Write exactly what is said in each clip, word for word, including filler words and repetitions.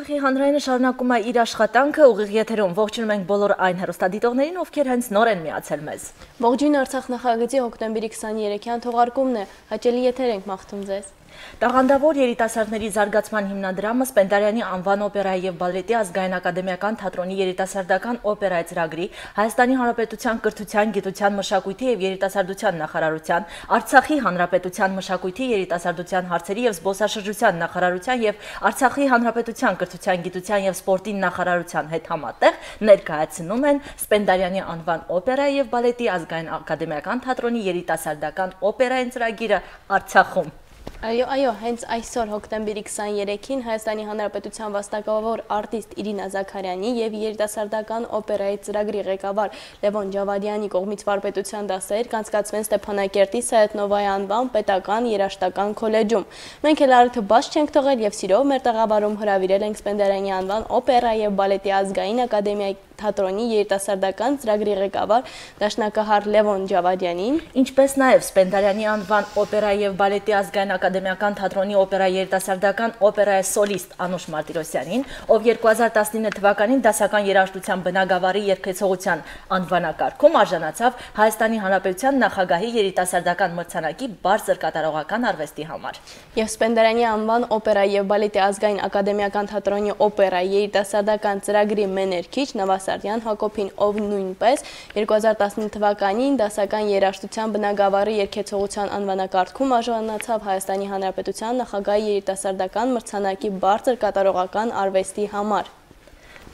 Արցախի հանրայինը շարունակում է իր աշխատանքը, ուղիղ եթերում ողջունում ենք բոլոր այն հեռուստադիտողներին, ովքեր հենց նոր են միացել մեզ։ Ողջույն Արցախ նախագծի հոկտեմբերի քսաներեքյան թողարկումն է, հաճելի եթեր ենք մաղթում ձեզ։ Տաղանդավոր երիտասարդների զարգացման հիմնադրամը Սպենդիարյանի անվան օպերայի և բալետի ազգային ակադեմիական թատրոնի երիտասարդական օպերայի ծրագրի, Հայաստանի Հանրապետության կրթության, գիտության, մշակույթի և երիտասարդության նախարարության, Արցախի Հանրապետության մշակույթի, երիտասարդության հարցերի և զբոսաշրջության նախարարության և Արցախի Հանրապետության կրթության, գիտության և սպորտի նախարարության հետ համատեղ ներկայացնում են Սպենդիարյանի անվան օպերայի և բալետի ազգային ակադեմիական թատրոնի երիտասարդական օպերային ծրագիրը Արցախում։ Այո, այո, հենց այսօր հոկտեմբերի քսաներեքին Հայաստանի Հանրապետության վաստակավոր արտիստ Իրինա Զաքարյանի և երիտասարդական օպերայի ծրագրի ղեկավար Լևոն Ջավադյանի կողմից վարպետության դասեր կանցկացվեն Ստեփանակերտի Սայաթ-Նովայի անվան պետական երաժշտական քոլեջում։ Մենք էլ առիթը բաց չենք թողել և սիրով մեր տաղավարում հրավիրել ենք Սպենդիարյանի անվան օպերայի և բալետի ազգային ակադեմիայի թատրոնի երիտասարդական ծրագրի ղեկավար դաշնակահար Լևոն Ջավադյանին, ինչպես նաև Սպենդիարյանի անվան օպերայի և բալետի ազգային ակադեմիական թատրոնի օպերայի երիտասարդական օպերայի սոլիստ Անուշ Մարտիրոսյանին, ով երկու հազար տասնինը թվականին դասական երաժշտության բնագավառի երգեցողության անվանակարգում արժանացավ Հայաստանի Հանրապետության նախագահի երիտասարդական մրցանակի բարձր կատարողական արվեստի համար։ Եվ Սպենդիարյանի անվան օպերայի և բալետի ազգային ակադեմիական թատրոնի օպերայի երիտասարդական ծրագրի մեներքիչ Նավասարդյան Հակոբին, ով նույնպես երկու հազար տասնինը թվականին դասական երաժշտության բնագավառի երգեցողության անվանակարգում արժանացավ Հայաստանի Հանրապետության նախագահի երիտասարդական մրցանակի բարձր կատարողական արվեստի համար։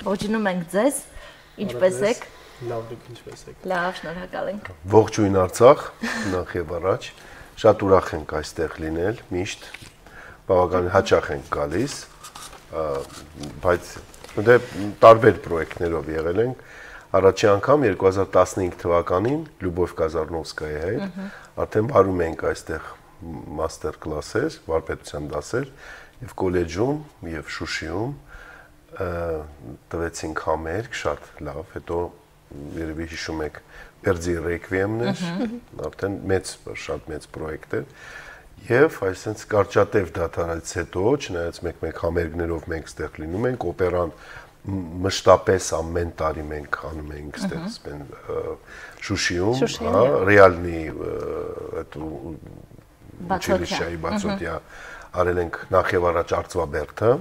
Ողջունում ենք ձեզ, ինչպես եք։ Լավ, դուք ինչպես եք։ Լավ, շնորհակալ ենք։ Ողջույն Արցախ, նախ եւ առաջ, շատ ուրախ ենք այստեղ լինել, միշտ բավականին հաճախ ենք գալիս, բայց դե տարբեր պրոյեկտներով եղել ենք։ Առաջի անգամ երկու հազար տասնհինգ թվականին Լյուբով Կազարնովսկայի հետ արդեն բարում ենք այստեղ մաստեր կլասեր, վարպետության դասեր եւ կոլեջում եւ Շուշիում տվեցինք համերգ, շատ լավ, հետո երևի հիշում եք Բերձի ռեկվիեմն էր, արդեն մեծ, շատ մեծ պրոյեկտ էր։ Եվ այսինքն կարճատև դադարից հետո, չնայած մեկ-մեկ համերգներով մենք ստեղ լինում ենք, օպերան մշտապես ամեն տարի մենք անում ենք ստեղ Շուշիում, հա, Ռեալնի այդ Ուչիլիշայի բացօթյա արել ենք նախ եւ առաջ Արծվաբերդը,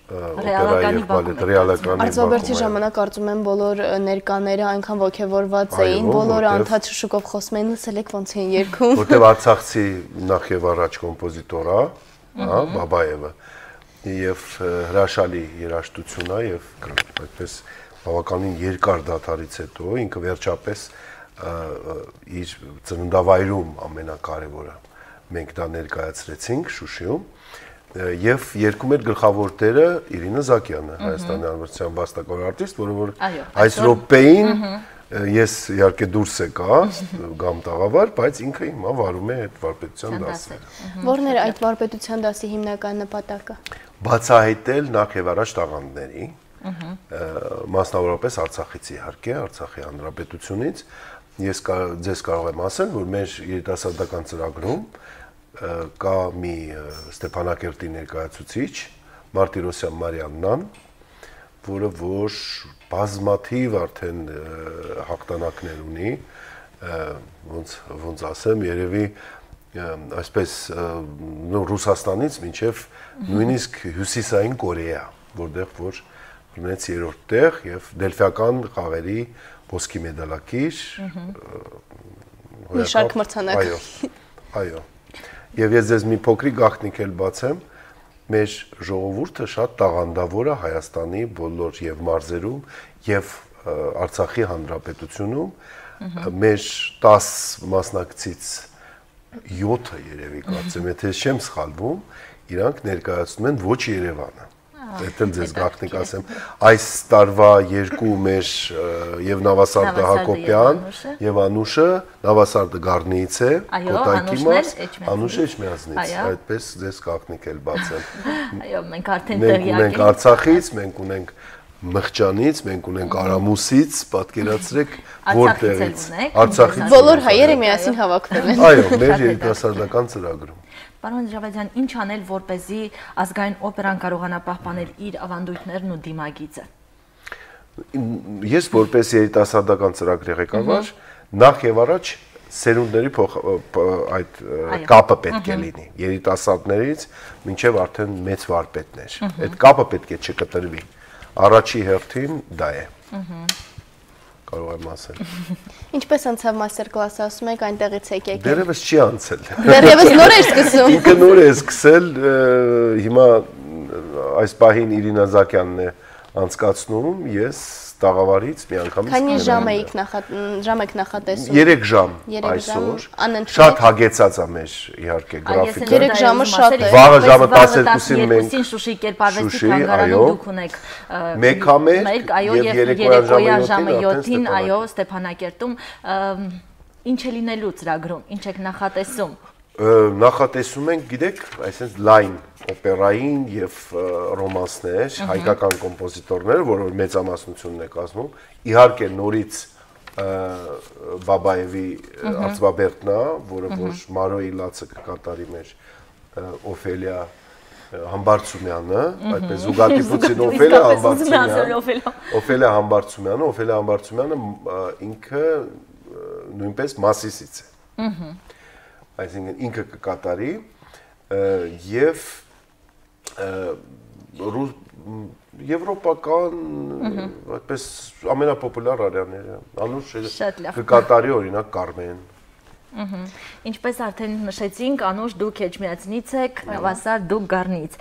օպերայի եւ բալետ ռեալականի Արծվաբերդի ժամանակ կարծում եմ բոլոր ներկաները այնքան ոգևորված էին, բոլորը անդադ շուշուկով խոսում էին, լսել եք ոնց էին երգում։ Որտեւ Արցախցի նախ եւ առաջ կոմպոզիտոր է, հա, Բաբաևը, եւ հրաշալի երաժշտություն է եւ այդպես բավականին երկար դադարից հետո ինքը վերջապես իր ծննդավայրում ամենակարևորը մենք դա ներկայացրեցինք Շուշիում եւ երկում էր գլխավոր տերը Իրինա Զաքյանը, Հայաստանի Հանրապետության վաստակավոր արտիստ, որը որ այս րոպեին ես իհարկե դուրս եկա գամ տաղավար, բայց ինքը հիմա վարում է այդ վարպետության դասը։ Որն էր այդ վարպետության դասի հիմնական նպատակը։ Բացահայտել նախ եւ առաջ տաղանդների, մասնավորապես Արցախից իհարկե, Արցախի Հանրապետությունից։ Ես ձեզ կարող եմ ասել, որ մեր երիտասարդական ծրագրում կա մի Ստեփանակերտի ներկայացուցիչ Մարտիրոսյան Մարիաննան, որը որ բազմաթիվ արդեն հաղթանակներ ունի, ոնց ոնց ասեմ, երևի այսպես Ռուսաստանից մինչև նույնիսկ Հյուսիսային Կորեա, որտեղ որ ունեց երրորդ տեղ եւ դելֆիական խաղերի ոսկի մեդալակիր, մի շարք մրցանակ։ Այո, այո։ Եվ ես ձեզ մի փոքրիկ գաղտնիք էլ բացեմ, մեր ժողովուրդը շատ տաղանդավոր է Հայաստանի բոլոր եւ մարզերում եւ Արցախի Հանրապետությունում, մեր տաս մասնակցից յոթը երևի կարծեմ, եթե չեմ սխալվում, իրանք ներկայացնում են ոչ Երևանը։ Դա ձեզ գաղտնիք ասեմ, այս տարվա երկու մեր եւ Նավասարդը Հակոբյան եւ Անուշը, Նավասարդը Գառնիից է, Կոտայքի մարզ, Անուշը Էջմիածնից, այդպես ձեզ գաղտնիք էլ բացեմ։ Այո, մենք արդեն տեղյակ ենք։ Մենք Արցախից, մենք ունենք Մղճանից, մենք ունենք Արամուսից, պատկերացրեք, որտեղից Արցախից բոլոր հայերը միասին հավաքվել են։ Այո, մեր երիտասարդական ծրագրում։ Պարոն Ջավադյան, ինչ անել, որպեսզի ազգային օպերան կարողանա պահպանել իր ավանդույթներն ու դիմագիծը։ Ես որպես երիտասարդական ծրագրի ղեկավար, նախ եւ առաջ սերունդների այդ կապը պետք է լինի երիտասարդներից մինչև արդեն մեծ վարպետներ։ Այդ կապը պետք է չկտրվի։ Առաջի հերթին դա է։ Կարող եմ ասել։ Ինչպես անցավ մաստեր կլասը, ասում եք այնտեղից եք եկել։ Դեռևս չի անցել։ Դեռևս նոր է սկսում։ Ինքը նոր է սկսել, հիմա այս պահին Իրինա Զակյանն է անցկացնում, ես տաղավարից մի անգամից։ Քանի ժամ եք ժամ եք նախատեսում։ երեք ժամ այսօր։ Շատ հագեցած է մեր իհարկե գրաֆիկը։ երեք ժամը շատ է։ Վաղը ժամը տասներկուսին մենք Շուշի կերպարվեստի թանգարանում դուք ունեք մեկ եւ երեկոյան ժամը յոթին, այո, Ստեփանակերտում ինչ է լինելու ծրագրում, ինչ եք նախատեսում։ Նախատեսում ենք, գիտեք, այսինքն լայն օպերային եւ ռոմանսներ, հայկական կոմպոզիտորներ, որոնց մեծամասնությունն է կազմում, իհարկե նորից Բաբաևի Արծվաբերդնա, որը որ Մարոյի լացը կկատարի մեր Օֆելիա Համբարձումյանը, այդպես զուգադիպուցին Օֆելիա Համբարձումյանը, Օֆելիա Համբարձումյանը, Օֆելիա Համբարձումյանը ինքը նույնպես Մասիսից է։ Այսինքն ինքը կկատարի եւ եվրոպական այդպես ամենապոպուլար արյաները անուշ կկատարի օրինակ Կարմեն։ Ինչպես արդեն նշեցինք, Անուշ դուք Էջմիածնից եք, Նավասար դուք Գառնից։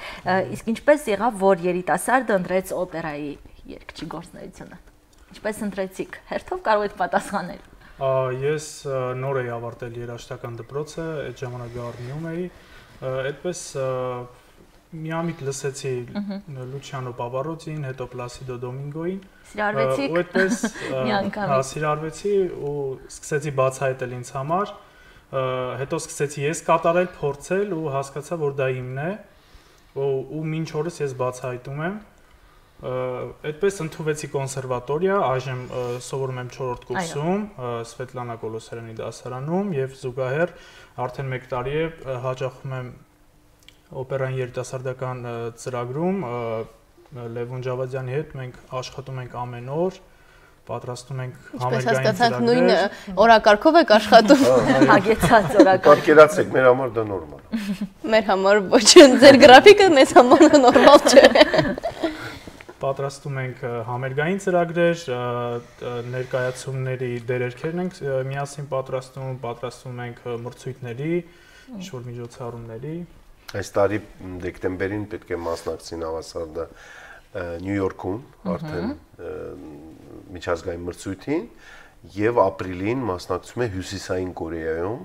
Իսկ ինչպես եղավ, որ երիտասարդը ընտրեց օպերայի երգչի գործունեությունը։ Ինչպես ընտրեցիք։ Հերթով կարող եք պատասխանել։ Ես նոր էի ավարտել երաժշտական դպրոցը, այդ ժամանակ Գառնիում էի, այդպես միամիտ լսեցի Լուչիանո Պավարոցին, հետո Պլասիդո Դոմինգոին։ Սիրարվեցիք։ Ու այդպես հա սիրարվեցի ու սկսեցի բացահայտել ինձ համար, հետո սկսեցի ես կատարել, փորձել ու հասկացա, որ դա իմն է, ու մինչ օրս ես բացահայտում եմ։ Այդպես ընդունվեցի կոնսերվատորիա, այժմ սովորում եմ չորրորդ կուրսում, Սվետլանա Կոլոսարյանի դասարանում եւ զուգահեռ արդեն մեկ տարի է հաճախում եմ օպերային երիտասարդական ծրագրում Լևոն Ջավադյանի հետ մենք աշխատում ենք ամեն օր, պատրաստում ենք համերգային ծրագրեր։ Նույն օրակարգով եք աշխատում։ Հագեցած օրակարգ։ Պատկերացրեք, մեր համար դա նորմալ է։ Մեր համար ոչ, ձեր գրաֆիկը մեզ համար նորմալ չէ։ Պատրաստում ենք համերգային ծրագրեր, ներկայացումների դերերքերն ենք միասին պատրաստում, պատրաստում ենք մրցույթների, ինչ-որ միջոցառումների։ Այս տարի դեկտեմբերին պետք է մասնակցի Նավասարդը Նյու Յորքում, արդեն միջազգային մրցույթին, եւ ապրիլին մասնակցում է Հյուսիսային Կորեայում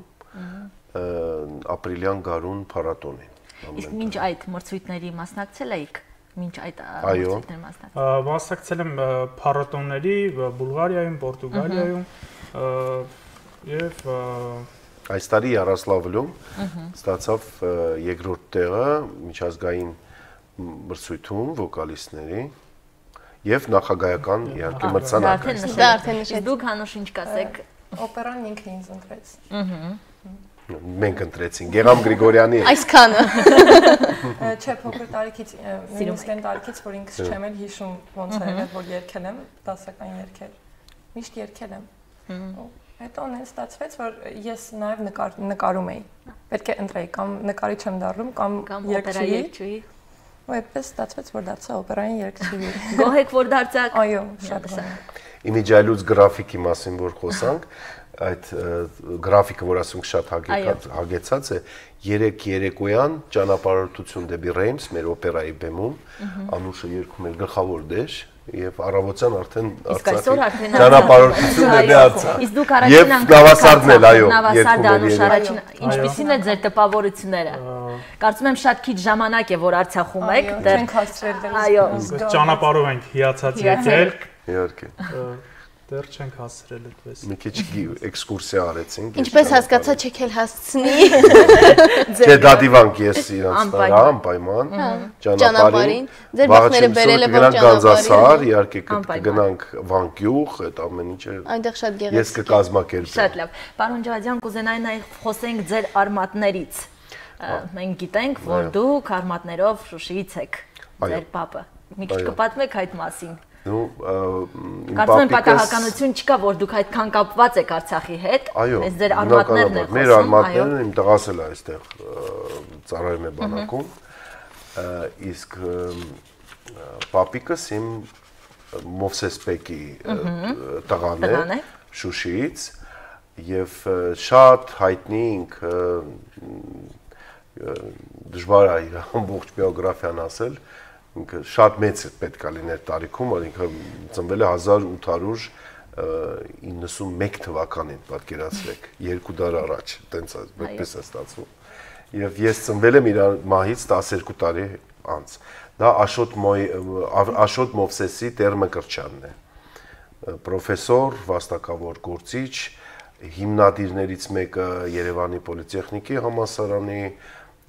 ապրիլյան գարուն փառատոնին։ Իսկ մինչ այդ մրցույթների մասնակցել եք։ Մինչ այդ մրցույթների մասնակցել։ Մասնակցել եմ փառատոների Բուլղարիայում, Պորտուգալիայում եւ այս տարի Յարոսլավլում ստացավ երկրորդ տեղը միջազգային մրցույթում վոկալիստների եւ նախագահական իհարկե մրցանակը։ Դա արդեն նշեցիք։ Դուք Հանուշ ինչ կասեք։ Օպերան ինքն ինձ ընտրեց։ Մենք ընտրեցինք Գեգամ Գրիգորյանի։ Այսքանը։ Չէ, փոքր տարիքից, նույնիսկ այն տարիքից, որ ինքս չեմ էլ հիշում ոնց է եղել, որ երգել եմ, դասական երգեր։ Միշտ երգել եմ։ Հետո նենց ստացվեց, որ ես նաև նկարում էի։ Պետք է ընտրեի կամ նկարիչ եմ դառնում, կամ երգչուհի։ Ու այդպես ստացվեց, որ դարձա օպերային երգչուհի։ Գոհ եք, որ դարձաք։ Այո, շատ գոհ։ Իմիջայլուց գրաֆիկի մասին որ խոսանք, այդ գրաֆիկը, որ ասում շատ հագեցած է, երեք երեկոյան ճանապարհորդություն դեպի Ռեյմս, մեր օպերայի բեմում, Անուշը երգում էր գլխավոր դեր, եւ առավոտյան արդեն Արցախի ճանապարհորդություն դեպի Արցախ։ Իսկ դուք առաջին անգամ Նավասարդն էլ, այո, Նավասարդը Անուշ առաջին, ինչպիսին է ձեր տպավորությունները։ Կարծում եմ շատ քիչ ժամանակ է, որ Արցախում եք, դեռ չենք հասցրել դեռ։ Այո, ճանապարհով ենք հիացած եկել։ Իհարկե։ Դեռ չենք հասցրել այդպես։ Մի քիչ էքսկուրսիա արեցինք։ Ինչպես հասկացա, չեք էլ հասցնի։ Չէ, դա դիվանք ես իրանց տար, անպայման ճանապարհին։ Ձեր բախները բերել եք Գանձասար, իհարկե կգնանք Վանկյուղ, այդ ամեն ինչը։ Այնտեղ շատ գեղեցիկ։ Ես կկազմակերպեմ։ Շատ լավ։ Պարոն Ջավադյան, կուզենայի նաև խոսենք ձեր արմատներից։ Մենք գիտենք, որ դուք արմատներով Շուշիից եք, ձեր պապը։ Մի քիչ կպատմեք այդ մասին։ Ну, Կարծում եմ պատահականություն չկա, որ դուք այդքան կապված եք Արցախի հետ։ Այս ձեր արմատներն են խոսում։ Մեր արմատներն իմ տղաս էլ այստեղ ծառայում է բանակում։ Իսկ պապիկս իմ Մովսեսպեկի տղան է Շուշիից եւ շատ հայտնի ինքը դժվար է իր ամբողջ բիոգրաֆիան ասել։ Ինքը շատ մեծ պետք է լիներ տարիքում, ինքը ծնվել է հազար ութ հարյուր իննսունմեկ թվականին, պատկերացրեք, երկու դար առաջ, տենց այդպես է ստացվում։ Եվ ես ծնվել եմ իր մահից տասներկու տարի անց։ Դա Աշոտ Աշոտ Մովսեսի Տեր Մկրտչյանն է։ Պրոֆեսոր, վաստակավոր գործիչ, հիմնադիրներից մեկը Երևանի պոլիտեխնիկի համալսարանի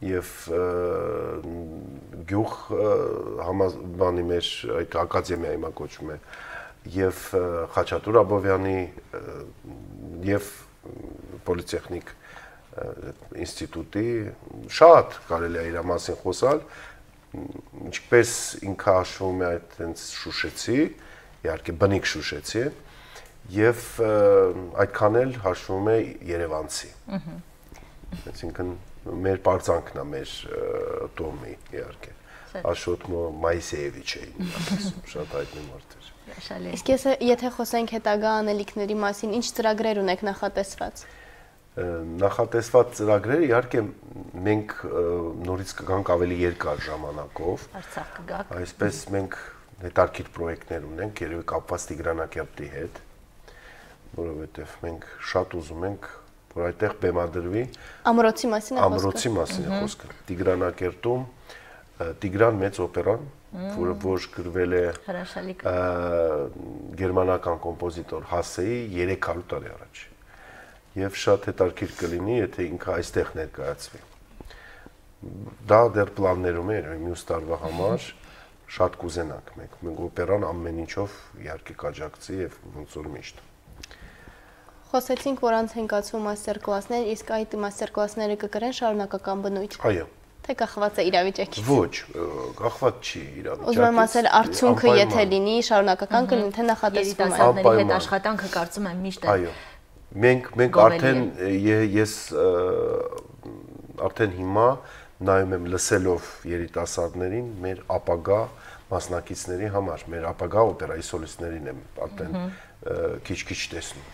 եւ գյուղ համազգանի մեր այդ ակադեմիայի հիմա կոչվում է եւ Խաչատուր Աբովյանի եւ պոլիտեխնիկ ինստիտուտի շատ կարելի է իր մասին խոսալ ինչպես ինքը հաշվում է այդ այնց շուշեցի իհարկե բնիկ շուշեցի եւ այդքան էլ հաշվում է երևանցի այսինքն մեր պարծանքն է մեր տոմի իհարկե Աշոտ Մայսեևիչ էին շատ հայտնի մարդ էր Իսկ եթե խոսենք հետագա անելիքների մասին ինչ ծրագրեր ունեք նախատեսված Նախատեսված ծրագրերը իհարկե մենք նորից կգանք ավելի երկար ժամանակով Արցախ կգաք Այսպես մենք հետարքիր պրոյեկտներ ունենք երևի կապված Տիգրանակերտի հետ որովհետև մենք շատ ուզում ենք որ այդտեղ բեմադրվի Ամրոցի մասին է խոսքը Ամրոցի մասին է խոսքը Տիգրանակերտում Տիգրան մեծ օպերան որը որ գրվել է գերմանական կոմպոզիտոր Հասեի երեք հարյուր տարի առաջ եւ շատ հետաքրքիր կլինի եթե ինքը այստեղ ներկայացվի դա դեռ պլաններում է մյուս տարվա համար շատ կուզենանք մենք մենք օպերան ամեն ինչով իհարկե կաջակցի եւ ոնց որ միշտ Խոսեցինք, որ անց են կացվում մաստեր-կլասներ, իսկ այդ մաստեր-կլասները կկրեն շարունակական բնույթ։ Այո։ Թե կախված է իրավիճակից։ Ոչ, կախված չի իրավիճակից։ Ուզում եմ ասել, արդյունքը եթե լինի, շարունակական կլինի, թե նախատեսվում է։ Երիտասարդների հետ աշխատանքը կարծում եմ միշտ է։ Այո։ Մենք մենք արդեն ես արդեն հիմա նայում եմ լսելով երիտասարդներին մեր ապագա մասնակիցների համար, մեր ապագա օպերայի սոլիստներին եմ արդեն քիչ-քիչ տեսնում։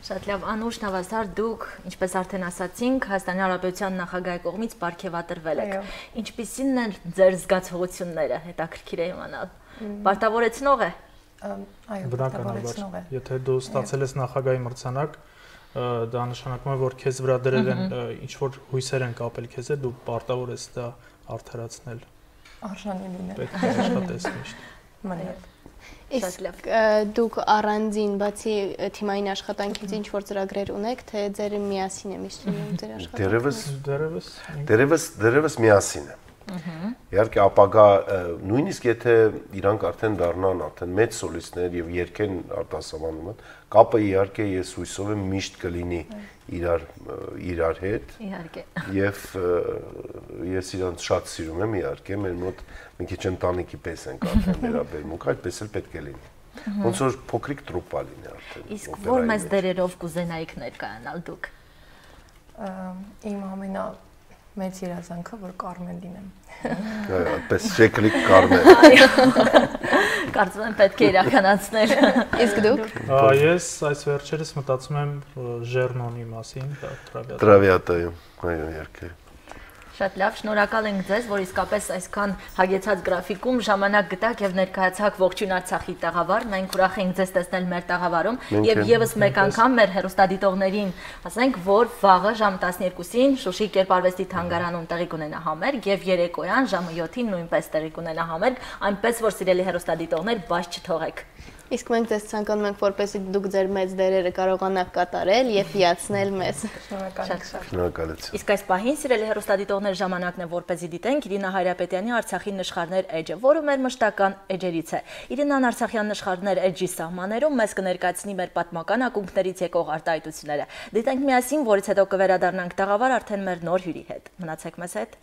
Շատ լավ, Անուշ Նավասար, դուք, ինչպես արդեն ասացինք, Հայաստանի Հանրապետության նախագահի կողմից պարգևատրվել եք։ Ինչպիսին են ձեր զգացողությունները, հետաքրքիր է իմանալ։ Պարտավորեցնող է։ Այո, պարտավորեցնող է։ Եթե դու ստացել ես նախագահի մրցանակ, դա նշանակում է, որ քեզ վրա դրել են ինչ որ հույսեր են կապել քեզ հետ, դու պարտավոր ես դա արդարացնել։ Արժանի լինել։ Պետք է աշխատես միշտ։ Մանետ Իսկ դուք առանձին բացի թիմային աշխատանքից ինչ որ ծրագրեր ունեք, թե ձեր միասին է միշտ լինում ձեր աշխատանքը։ Դերևս դերևս դերևս դերևս միասին է։ Իհարկե ապագա նույնիսկ եթե իրանք արդեն դառնան արդեն մեծ սոլիստներ եւ երկեն արտասահմանում, կապը իհարկե ես հույսով եմ միշտ կլինի իրար իրար հետ։ Իհարկե։ Եվ ես իրանց շատ սիրում եմ իհարկե, մեր մոտ մի քիչ ընտանիքի պես ենք արդեն վերաբերմունք, այդպես էլ պետք է լինի։ Ոնց որ փոքրիկ տրուպա լինի արդեն։ Իսկ որ մեծ դերերով կուզենայիք ներկայանալ դուք։ Իմ ամենա մեծ երազանքը որ Կարմեն լինեմ։ Այո, այդպես շեկլիկ Կարմեն։ Կարծում եմ պետք է իրականացնել։ Իսկ դուք։ Ես այս վերջերս մտածում եմ Ժեռնոնի մասին, Տրավիատա։ Տրավիատայում, այո, իհարկե։ Շատ լավ, շնորհակալ ենք ձեզ, որ իսկապես այսքան հագեցած գրաֆիկում ժամանակ գտաք եւ ներկայացաք ողջույն Արցախի տաղավար։ Մենք ուրախ ենք ձեզ տեսնել մեր տաղավարում եւ եւս մեկ անգամ մեր հեռուստադիտողներին ասենք, որ վաղը ժամը տասներկուսին Շուշի Կերպարվեստի թանգարանում տեղի կունենա համերգ եւ երեկոյան ժամը յոթին նույնպես տեղի կունենա համերգ, այնպես որ սիրելի հեռուստադիտողներ, բաց չթողեք։ Իսկ մենք ձեզ ցանկանում ենք, որպեսզի դուք ձեր մեծ դերերը կարողանաք կատարել եւ հիացնել մեզ։ Շնորհակալություն։ Իսկ այս պահին սիրելի հեռուստադիտողներ, ժամանակն է, որպեսզի դիտենք Իրինա Հայրապետյանի Արցախի նշխարներ էջը, որը մեր մշտական էջերից է։ Իրինան Արցախյան նշխարներ էջի սահմաններում մեզ կներկայացնի մեր պատմական ակունքներից եկող արտահայտությունները։ Դիտենք միասին, որից հետո կվերադառնանք տաղավար արդեն մեր նոր հյուրի հետ։ Մնացեք մեզ հետ։